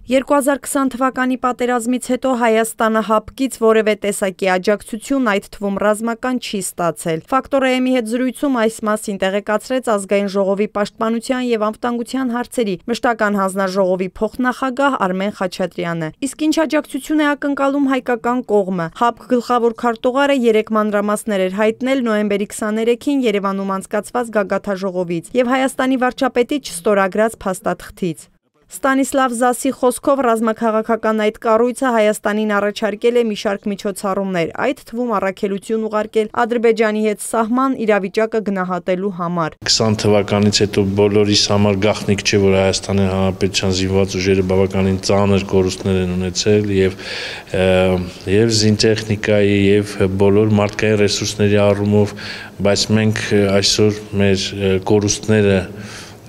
2020 թվականի պատերազմից հետո Հայաստանը հապկից որևէ տեսակի աջակցություն, այդ թվում ռազմական, չի ստացել։ Ֆակտոր AM-ի հետ զրույցում այս մասին տեղեկացրեց Ազգային ժողովի պաշտպանության եւ անվտանգության հարցերի մշտական հանձնաժողովի փոխնախագահ Արմեն Խաչատրյանը։ Իսկ ինչ աջակցություն է ակնկալում հայկական կողմը։ ՀԱՊԿ գլխավոր քարտուղարը 3 մանրամասներ էր հայտնել նոյեմբերի 23-ին Երևանում անցկացված գագաթնաժողովից եւ Հայաստանի վարչապետի չստորագրած փաստաթղթից։ Ստանիսլավ Զասի խոսքով ռազմաքաղաքական այդ կառույցը Հայաստանին առաջարկել է մի շարք միջոցառումներ, այդ թվում առաքելություն ուղարկել Ադրբեջանի հետ սահման իրավիճակը գնահատելու համար։ 20 թվականից հետո բոլորիս համար գաղտնիք չէ, որ Հայաստանի Հանրապետության զինված ուժերը բավականին ծանր կորուստներ են ունեցել եւ զինտեխնիկայի եւ բոլոր մարդկային ռեսուրսների առումով, բայց մենք այսօր մեր կորուստները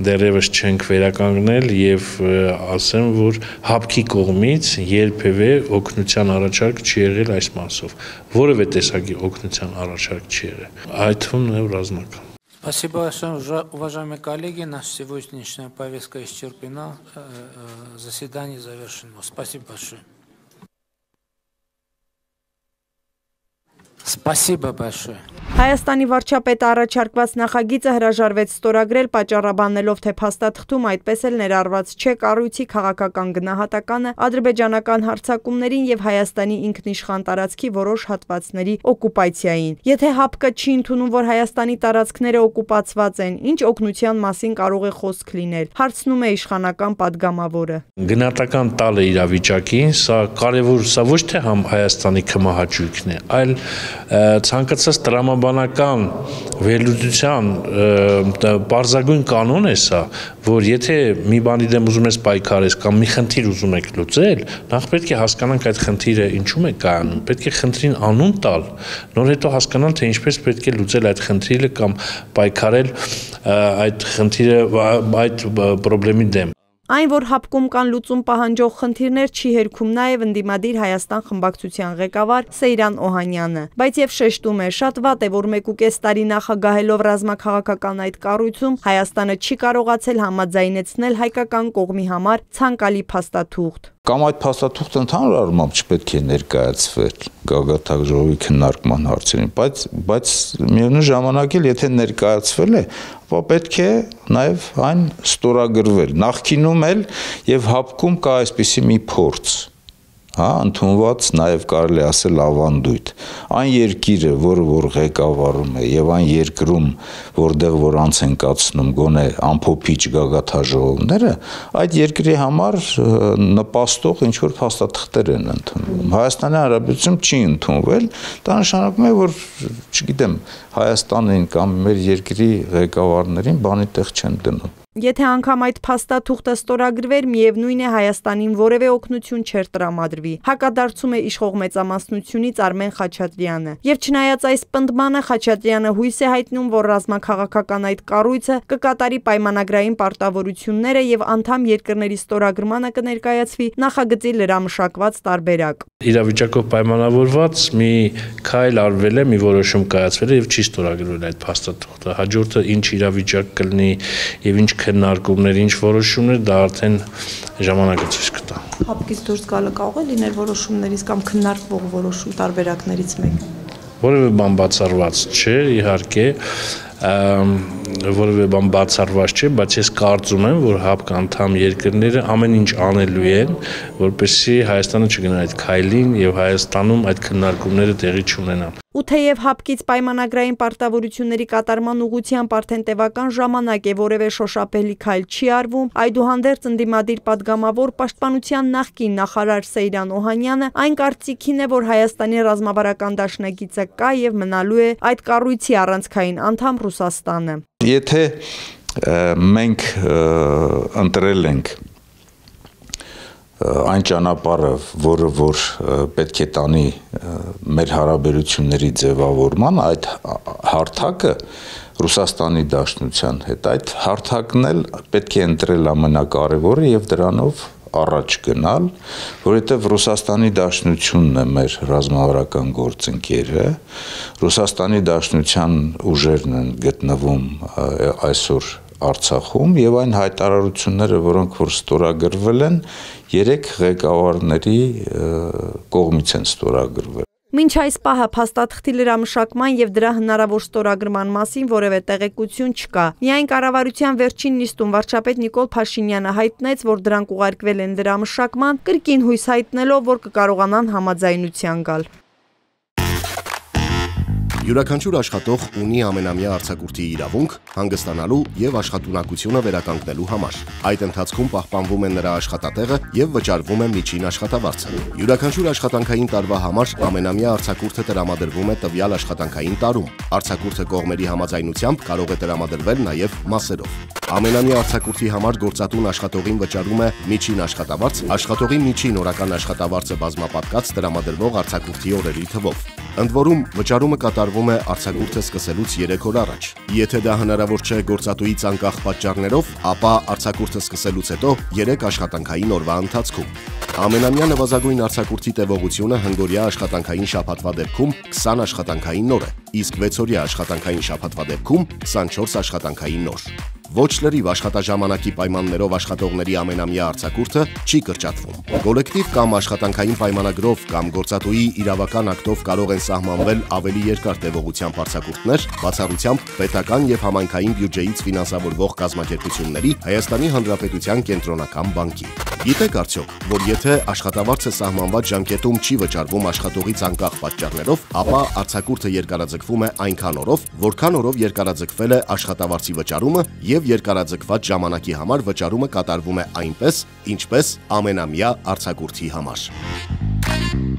դեռևս չենք վերականգնել եւ ասեմ, որ ՀԱՊԿ-ի կողմից երբևէ օգնության առաջարկ չի եղել այս մասով։ Որևէ տեսակի օգնության առաջարկ չի եղել, այդ թվում նաեւ ռազմական։ Спасибо большое, уважаемые коллеги. Наша сегодняшняя повестка исчерпана. Заседание завершено. Спасибо большое. Спасибо большое. Հայաստանի վարչապետը առաջարկված նախագիծը հրաժարվեց ստորագրել, պատճառաբանելով, թե փաստաթղթում այդպես էլ ներառված չէ կառույցի քաղաքական գնահատականը ադրբեջանական հարձակումներին եւ Հայաստանի ինքնիշխան տարածքի որոշ հատվածների օկուպացիային։ Եթե ՀԱՊԿ-ը չի ընդունում, որ Հայաստանի տարածքները օկուպացված են, ինչ օգնության մասին կարող է խոսք լինել, հարցնում է իշխանական падգամավորը։ Գնահատական տալը իրավիճակին, սա կարևոր, սա ոչ թե Հայաստանի քմահաճույքն է, այլ ցանկացած տրամաբանական վերլուծության պարզագույն կանոն է սա, որ եթե մի բանի դեմ ուզում ես պայքարես կամ մի խնդիր ուզում եք լուծել, նախ պետք է հասկանանք այդ խնդիրը ինչու է կայանում, պետք է խնդրին անուն տալ, նոր հետո հասկանալ, թե ինչպես պետք է լուծել այդ խնդիրը կամ պայքարել այդ խնդիրը, այդ խնդրի դեմ։ Այն, որ ՀԱՊԿ-ում կան լուծում պահանջող խնդիրներ, չի հերքում նաև ընդդիմադիր Հայաստան խմբակցության ղեկավար Սեյրան Օհանյանը, բայց եւ շեշտում է, շատ վատ է, որ 1.5 տարի նախագահելով ռազմաքաղաքական այդ կառույցում Հայաստանը չի կարողացել համաձայնեցնել հայկական կողմի համար ցանկալի փաստաթուղթ։ Կամ այդ փաստաթուղթը ընդհանուր առմամբ չպետք է ներկայացվել գագաթնաժողովի քննարկման հարցերին, բայց միևնույն ժամանակ էլ եթե ներկայացվել է, ապա պետք է նաև այն ստորագրվել։ Նախկինում էլ եւ ՀԱՊԿ-ում կա այսպիսի մի փորձ, ընդունված նաև կարելի ասել ավանդույթ։ Այն երկիրը, որը որ ղեկավարում է եւ այն երկրում, որտեղ որ անց են կացնում գոնե ամփոփիչ գագաթնաժողովները, այդ երկրի համար նպաստող ինչ որ փաստաթղթեր են ընդունվում։ Հայաստանի Հանրապետությունում չի ընդունվել, դա նշանակում է, որ, չգիտեմ, Հայաստանին կամ մեր երկրի ղեկավարներին բանի տեղ չեն դնում։ Եթե անգամ այդ փաստաթուղթը ստորագրվեր, միևնույն է Հայաստանին որևէ օգնություն չէր տրամադրվի, հակադարձում է իշխող մեծամասնությունից Արմեն Խաչատրյանը։ Եվ չնայած այս պնդմանը, Խաչատրյանը հույս է հայտնում, որ ռազմաքաղաքական այդ կառույցը կկատարի պայմանագրային պարտավորությունները եւ անդամ երկրների ստորագրմանը կներկայացվի նախագծի լրամշակված տարբերակ։ Իրավիճակով պայմանավորված մի քայլ արվել է, մի որոշում կայացվել է եւ չի ստորագրվել այդ փաստաթուղթը։ Հաջորդը ինչ իրավիճակ կլինի եւ ինչ քննարկումներ, ինչ որոշումներ, դա արդեն ժամանակը ցույց կտա։ ՀԱՊԿ-ից դուրս գալը կարող է լինել որոշումներից կամ քննարկվող որոշում տարբերակներից մեկը։ Որևէ բան բացառված չէ, իհարկե, որևէ բան բացառված չէ, բայց ես կարծում եմ, որ ՀԱՊԿ անդամ երկրները ամեն ինչ անելու են, որպեսզի Հայաստանը չգնա այդ քայլին եւ Հայաստանում այդ քննարկումները տեղի չունենան։ Ու թեև ՀԱՊԿ-ից պայմանագրային պարտավորությունների կատարման ուղղությամբ արդեն տևական ժամանակ է որևէ շոշափելի քայլ չի արվում, այդուհանդերձ ընդդիմադիր падգամավոր պաշտպանության նախկին նախարար Սեյրան Օհանյանը այն կարծիքին է, որ Հայաստանի ռազմավարական դաշնակիցը կա եւ մնալու է այդ կառույցի առանցքային անդամ Ռուսաստանը։ Եթե մենք ընտրել ենք այն ճանապարհը, որը որ պետք է տանի մեր հարաբերությունների ձևավորման, այդ հարթակը Ռուսաստանի Դաշնության հետ, այդ հարթակն էլ պետք է ընտրել ամենակարևորը եւ դրանով առաջ գնալ, որովհետև Ռուսաստանի Դաշնությունն է մեր ռազմավարական գործընկերը, Ռուսաստանի Դաշնության ուժերն են գտնվում այսօր Արցախում եւ այն հայտարարությունները, որոնք որ ստորագրվել են, 3 ղեկավարների կողմից են ստորագրվել։ Մինչ այս պահը փաստաթղթի լրամշակման եւ դրա հնարավոր ստորագրման մասին որևէ տեղեկություն չկա։ Միայն կառավարության վերջին նիստում վարչապետ Նիկոլ Փաշինյանը հայտնեց, որ դրանք ուղարկվել են լրամշակման, կրկին հույս հայտնելով, որ կկարողանան համաձայնության գալ։ Յուրաքանչյուր աշխատող ունի ամենամյա արձակուրդի իրավունք հանգստանալու եւ աշխատունակությունը վերականգնելու համար։ Այդ ընթացքում պահպանվում է նրա աշխատատեղը եւ վճարվում է միջին աշխատավարձը։ Յուրաքանչյուր աշխատանքային տարվա համար ամենամյա արձակուրդը տրամադրվում է տվյալ աշխատանքային տարում։ Արձակուրդը կողմերի համաձայնությամբ կարող է տրամադրվել նաեւ մասերով։ Ամենամյա արձակուրդի համար գործատուն աշխատողին վճարում է միջին աշխատավարձ, աշխատողի միջին օրական աշխատավարձը բազմապատկած տրամադրվող արձակուրդի օրերի թվով։ Ընդ որում, վճարումը կատարվում է արձակուրդը սկսելուց 3 օր առաջ։ Եթե դա հնարավոր չէ գործատուից անկախ պատճառներով, ապա արձակուրդը սկսելուց հետո 3 աշխատանքային օրվա ընթացքում։ Ամենամյա նվազագույն արձակուրդի տևողությունը հնգօրյա աշխատանքային շաբաթվա դեպքում 20 աշխատանքային օր է, իսկ 6-օրյա աշխատանքային շաբաթվա դեպքում 24 աշխատանքային օր։ Ոչ լրիվ աշխատաժամանակի պայմաններով աշխատողների ամենամյա արձակուրդը չի կրճատվում։ Կոլեկտիվ կամ աշխատանքային պայմանագրով կամ գործատուի իրավական ակտով կարող են սահմանվել ավելի երկար տևողությամբ արձակուրդներ, բացառությամբ պետական եւ համայնքային բյուջեից ֆինանսավորվող կազմակերպությունների Հայաստանի Հանրապետության կենտրոնական բանկի։ Գիտեք արդյոք, որ եթե աշխատավարձը սահմանված ժամկետում չի վճարվում աշխատողից անկախ պատճառներով, ապա արձակուրդը երկարաձգվում է այնքան օրով, որքան օրով երկարաձգվել է աշխատավարձի վճարումը եւ երկարաձգված ժամանակի համար վճարումը կատարվում է այնպես, ինչպես ամենամյա արձակուրդի համար։